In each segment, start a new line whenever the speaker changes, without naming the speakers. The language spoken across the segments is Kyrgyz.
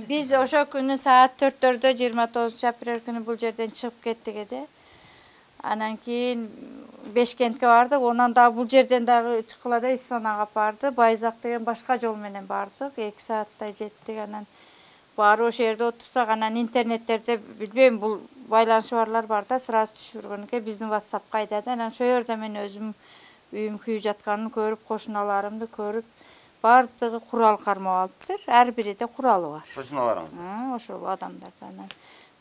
Биз ошо күнү саат 4-төрдө 29 апрель күнү бул жерден чыгып кеттик эде. Анан кийин Бешкентке бардык. Онан дагы бул жерден дагы чыккыла да Исфанага барды. Байзак деген башка жол менен бардык. 2 сааттай жеттик. Анан баары ошол жерде отурсак, анан интернеттерде билбейм, бул байланышы барлар бар да, сразу түшүргөн экен. Биздин WhatsAppка айтады. Анан ошол жерде мен өзүм үйүм күйүп жатканын көрүп, кошуналарымды көрүп, бардыгы курал кармап алыптыр. Ар биринде куралы бар.
Кошуналарыңызда?
Ошол адамдардан.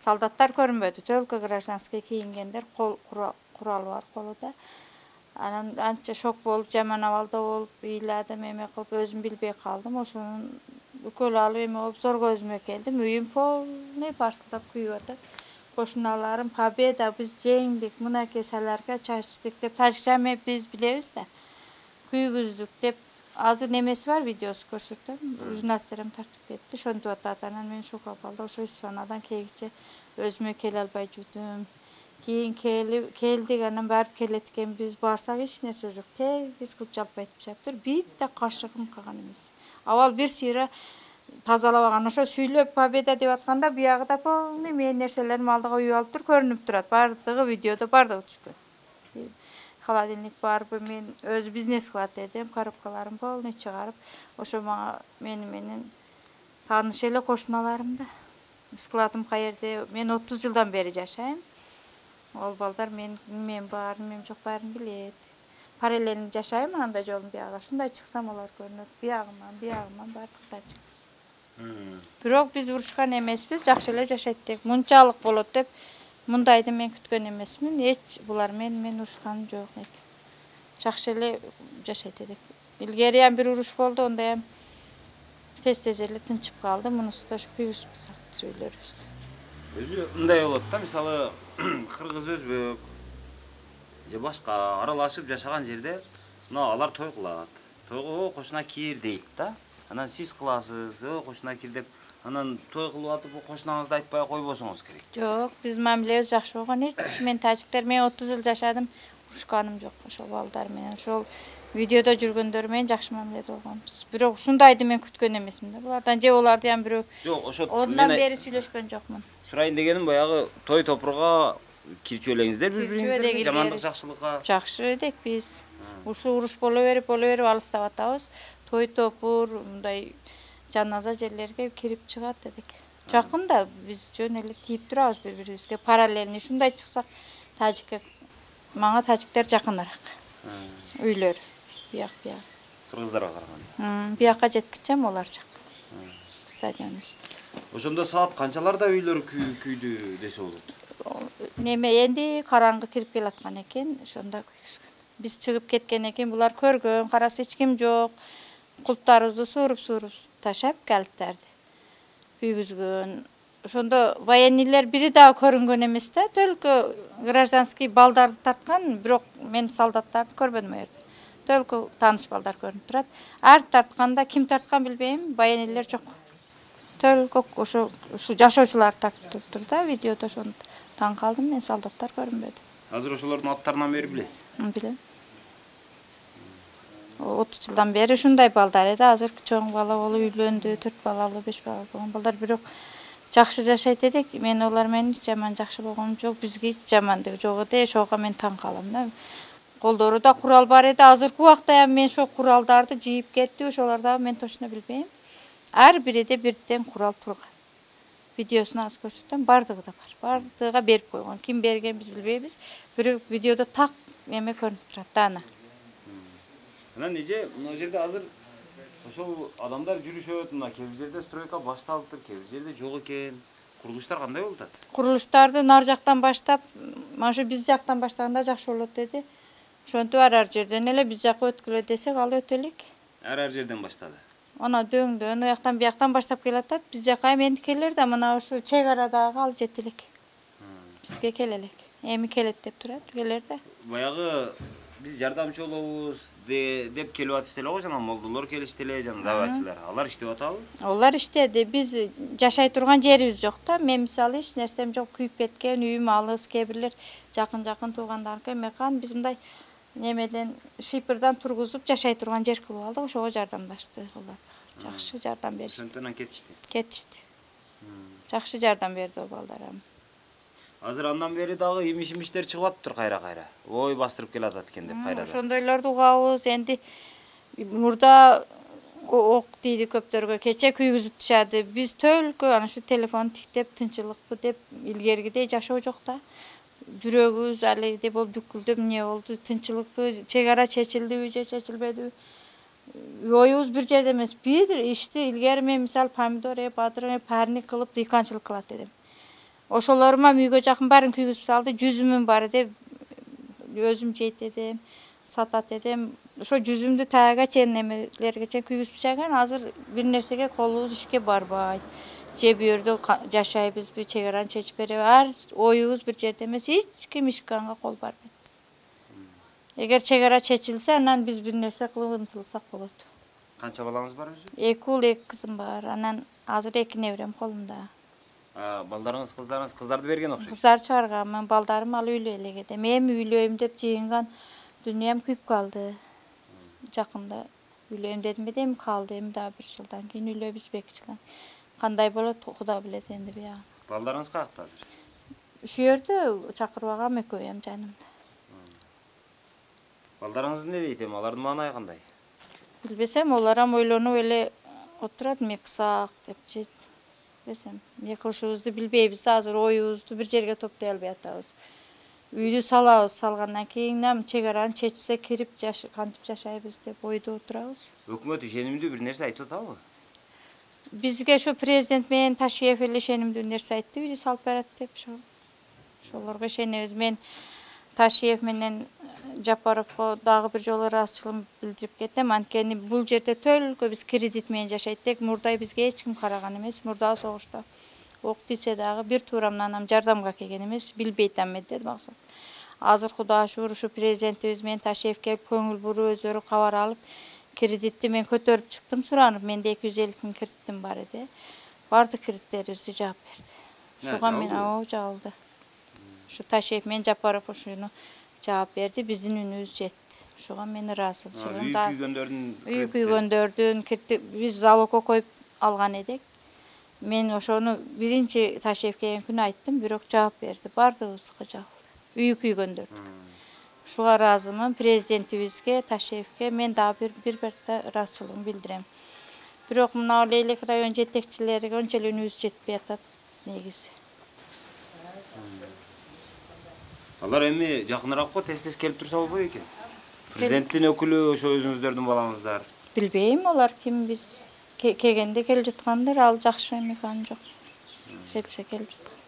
Солдаттар көрүнбөдү, только гражданский кийингендер, куралы бар колунда. Анан анча шок болуп, жаман абалда болуп, ыйладым, эме кылып, өзүм билбей калдым. Ошонун үкөл алып эме болуп, зорго өзүмө келдим. Үйүм полный парсылдап күйүп атат. Кошуналарым победа, биз жеңдик, мынакей солярка чачтык деп, тажикча эме биз билебиз да. Күйгүздүк деп, азыр немеси бар, видеосу көрсөтөм. Журналисттерим тартып кетти, ошентип атат. Анан мен шок абалда ошо Исфанадан кийинче өзүмө келе албай жүрдүм. Кийин келдик, анан барып келет экенбиз. Барсак эч нерсе жок. Тегиз кылып жалп айтып чаптыр. Битте кашыгым калган эмес. Абал бир сыйра тазалабаган. Ошо сүйлөп победа деп атканда, биягы да полный менин нерселерим алдыга үйүп алыптыр, көрүнүп турат. Бардыгы видеодо бардыгы түшкөн. Холодильник барбы, мен өзү бизнес кылат эдим, коробкаларым полный чыгарып, ошо мага менен тааныш эле кошуналарым да. Складым каерде, мен 30 жылдан бери жашайм. Ол балдар мен бар, мен жок баарын билет. Параллельно жашайм анда жолдун биягында. Ушундай чыксам алар көрүнөт. Биягыман бардыкта чыкты. Бирок биз урушкан эмеспиз, жакшы эле жашайт деп. Мынчалык болот деп мындайды мен күткөн эмесмин. Эч булар мен урушканым жок экен. Жакшы эле жашайт эдик. Илгери бир уруш болду, онда тез эле тынчып калды. Мунусу да күйүп сактыр үйлөрүбүздү.
Өзү мындай болот да, мисалы кыргыз, өзбек же башка аралашып жашаган жерде, мына алар той кылат. Тойго кошуна кир дейт да. Анан сиз кыласыз, кошуна кир деп, анан той кылып атып, кошунаңызды айтпай койбосоңуз керек.
Жок, биздин мамилебиз жакшы болгон. Эч мен тажиктер, мен 30 жыл жашадым, урушканым жок ошол балдар менен. Ошол видеодо жүргөндөр менен жакшы мамиледе болгонбуз. Бирок ушундайды мен күткөн эмесмин да. Булардан же оларды бирөө
жок, ошо
ондан бери сүйлөшкөн жокмун.
Сурайын дегеним, баягы той топурга кирчү элеңиздер бири-бириңиздерге, жамандык жакшылыкка.
Жакшы эдик биз. Ушу уруш боло берип алыстап атабыз. Той топур, мындай жаназа жерлерге кирип чыгат эдик. Жакын да, биз жөн эле тийип турабыз бири-бирибизге. Параллельно ушундай чыксак, мага тажиктер жакыныраак. Үйлөр бияк.
Кыргыздарга караганда.
Биякка жеткичем олар жакын. Стадион үстүндө.
Ошондо саат канчаларда үйлөр күйдү десе болот?
Неме энди караңгы кирип келаткан экен, ошондо күйгүзгөн. Биз чыгып кеткен экен, булар көргөн, караса эч ким жок. Кулптарыбызды сууруп ташап, калиттарды күйгүзгөн. Ошондо военныйлер бири дагы көрүнгөн эмес да, только гражданский балдарды тарткан, бирок мен солдаттарды көрбөдүм ал жерде. Только тааныш балдар көрүнүп турат. Ар тартканда ким тарткан билбейм, военныйлер жок. Только ушу жашоочулар тартып туруптур да, видеодо ошону таң калдым, мен солдаттар көрүнбөдү.
Азыр ошолордун аттарынан бери билесиз?
Билем. 30 жылдан бери ушундай балдар эди. Азыр чоң бала болуп үйлөндү, 4 балалуу, 5 балалуу болгон балдар, бирок жакшы жашайт эдик. Мен олар менен жаман жакшы болгонум жок, бизге эч жамандыгы жок эди. Ошого мен таң калам да. Колдору да курал бар эди. Азыркы убакта мен ошол куралдарды жийип кетти, ошолорду мен точно билбейм. Ар бириде бирден курал турган. Видеосуну азыр көрсөтөм, бардыгы да бар. Бардыгыга берип койгон. Ким берген биз билбейбиз. Бирок видеодо так эме көрүнүп турат да аны.
Анан эже мына жерде азыр ошол адамдар жүрүшөт, мына кээ бир жерде стройка башталыптыр, кээ бир жерде жок экен. Курулуштар кандай болуп атат?
Курулуштарды нар жактан баштап, mana ошо биз жактан баштаганда жакшы болот деди. Ошентип ар жерден эле биз жакка өткүлө десек, ал өтө элек.
Ар жерден баштады.
Ана дөңдөн, ояктан бияктан баштап келатат. Биз жакка эми келер да, мына ошо чек арадагы ал жете элек. Бизге келе элек. Эми келет деп турат, келер да.
Баягы биз жардамчы болобуз деп келип атышты эле го, жана молдолор келишти эле, жана даватчылар. Алар иштеп атабы?
Алар иштеди. Биз жашай турган жерибиз жок да. Мен мисалы эч нерсем жок, күйүп кеткен, үйүм алыс, кээ бирлер жакын туугандарыныкы эмекан биз мындай немеден шипырдан тургузуп жашай турган жер кылып алдык, ошого жардамдашты алар. Жакшы жардам беришти.
Ошондон кетишти.
Кетишти. Жакшы жардам берди ол балдарым.
Азыр андан бери дагы имиш-имиштер чыгып атыптыр кайра-кайра. Ой бастырып келатат экен деп кайрадан.
Ошондойлорду угабыз. Энди мурда ок тийди көптөргө, кече күйгүзүп тышады. Биз төлкө ана ушу телефон тиктеп тынчылыкпы деп илгергидей жашоо жок да. Жүрөгүбүз алегидей болуп дүкүлдөп эмне болду, тынчылыкпы, чек ара чечилдиби же чечилбедиби? Оюбуз бир жерде эмес. Бир ишти илгери мен мисалы помидор, бадырын, парник кылып дыйканчылык кылат эдим. Ошолорума үйгө жакын баарын күйгүзүп салды, 100 бар деп өзүм жейт эдим, сатат эдим. Ошо 100 тага чейин немелерге чейин күйгүзүп тышаган, азыр бир нерсеге колубуз ишке барбайт. Же бу жерде жашайбызбы, чек араны чечип береби? Оюбуз бир жерде эмес, эч ким ишканга кол барбайт. Эгер чек ара чечилсе, анан биз бир нерсе кылып ынтылсак болот.
Канча балаңыз бар өзү?
2 уул, 2 кызым бар. Анан азыр 2 неберем колумда.
Балдарыңыз, кыздарды берген окшойт.
Кыздар чыгарган, мен балдарым ал үйлөө элегеде. Мен үйлөйм деп жыйынган дүням күйүп калды. Жакында үйлөйм дедим эми калды, эми дагы 1 жылдан кийин үйлөйбүз 2 жылдан. Кандай болот, Куда билет энди буягын.
Балдарыңыз каякта азыр?
Ушу жерде чакырбагам, экөөм жанымда.
Балдарыңыз эмне дейт эми? Алардын маанайы кандай?
Билбесем, оларам ойлонуп эле отурат, эмне кылсак деп же. Билбесем, эмне кылышыбызды билбейбиз. Азыр оюбузду бир жерге топтой албай атабыз. Үйдү салабыз, салгандан кийин чек араны чечсе кирип кантип жашайбыз деп ойдо отурабыз.
Өкмөт ишенимдүү бир нерсе айтып атабы?
Бизге ошо президент менен Ташиев эле ишенимдүү нерсе айтты, үйдү салып берет деп. Ошолорго ишенебиз. Мен Ташиев менен Жапаровго дагы бир жолу ыраазычылыгымды билдирип кетем. Анткени бул жерде төлкө биз кредит менен жашайт. Мурдай бизге эч ким караган эмес. Мурдагы согушта ок тийсе дагы бир туурамдан анам жардамга келген эмес. Билбейт эме деди максат. Азыр Кудайга шүгүр ушу президентибиз менен Ташиев келип көңүл буруп өздөрү кабар алып, кредитти мен көтөрүп чыктым суранып. Менде 250 000 кредитим бар эди. Бардык кредиттерибизди жаап берди. Ушуга мен жабылды. Ушу Ташиев менен Жапаров ушуну жаап берди, биздин үнүбүз жетти. Ошого мен ыраазычылыгым да. Үй күйгөндөрдүн биз залогко коюп алган эдик. Мен ошону биринчи Ташиев келген күнү айттым, бирок жаап берди. Бардыгыбызга жабылды. Үй күйгөндөрдүк. Ушуга ыраазымын президентибизге, Ташиевке мен дагы бир ыраазычылыгымды билдирем. Бирок мына Лейлек район жетекчилериге ончо эле үнүбүз жетпей атат негизи.
Алар эми жакыныраакка тез келип турса болбойт экен. Президенттин өкүлү ошо өзүңүздөрдүн балаңыздар.
Билбейм, олар ким, биз келгенде келип жаткандар, ал жакшы эме жок. Келсе келип жаткан.